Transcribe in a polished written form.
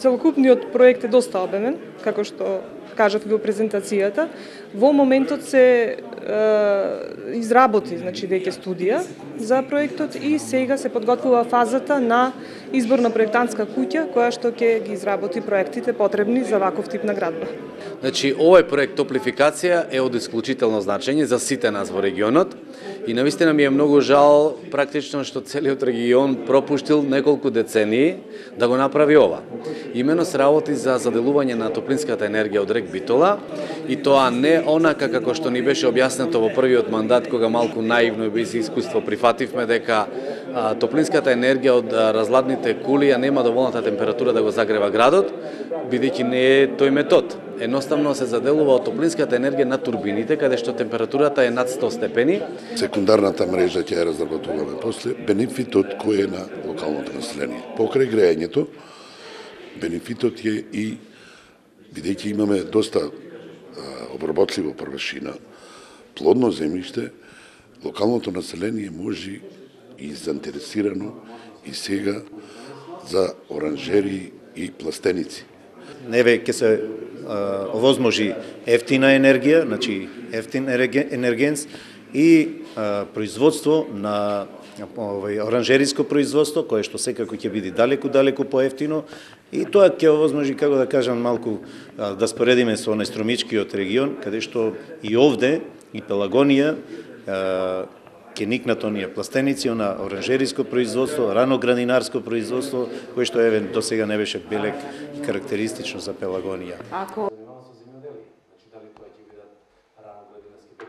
целокупниот проект е доста обемен, како што кажав во презентацијата. Во моментот се изработи, значи веќе студија за проектот и сега се подготвува фазата на избор на проектантска куќа која што ќе ги изработи проектите потребни за ваков тип на градба. Значи, овој проект топлификација е од исклучително значење за сите нас во регионот и навистина ми е многу жал практично што целиот регион пропуштил неколку децении да го направи ова. Имено се работи за заделување на топлинската енергија од рек Битола и тоа не онака како што ни беше објаснето во првиот мандат кога малку наивно и без искуство прифативме дека топлинската енергија од разладните кули нема доволната температура да го загрева градот, бидејќи не е тој метод. Едноставно се заделува од топлинската енергија на турбините, каде што температурата е над 100 степени. Секундарната мрежа ќе ја разработуваме после. Бенефитот кој е на локалното население. Покрај грејењето, бенефитот е и, бидејќи имаме доста обработливо првшина, плодно земјиште, локалното население може и заинтересирано и сега за оранжери и пластеници. Еве ќе се овозможи ефтина енергија, значи ефтин енергенс и производство на оранжериско производство, кое што секако ќе биде далеку поевтино и тоа ќе овозможи, како да кажам, малку да споредиме со Струмичкиот регион, каде што и овде, и Пелагонија, ќе никнат оние пластеници, на оранжериско производство, рано-градинарско производство, кое што еве до сега не беше белек карактеристично за Пелагонија.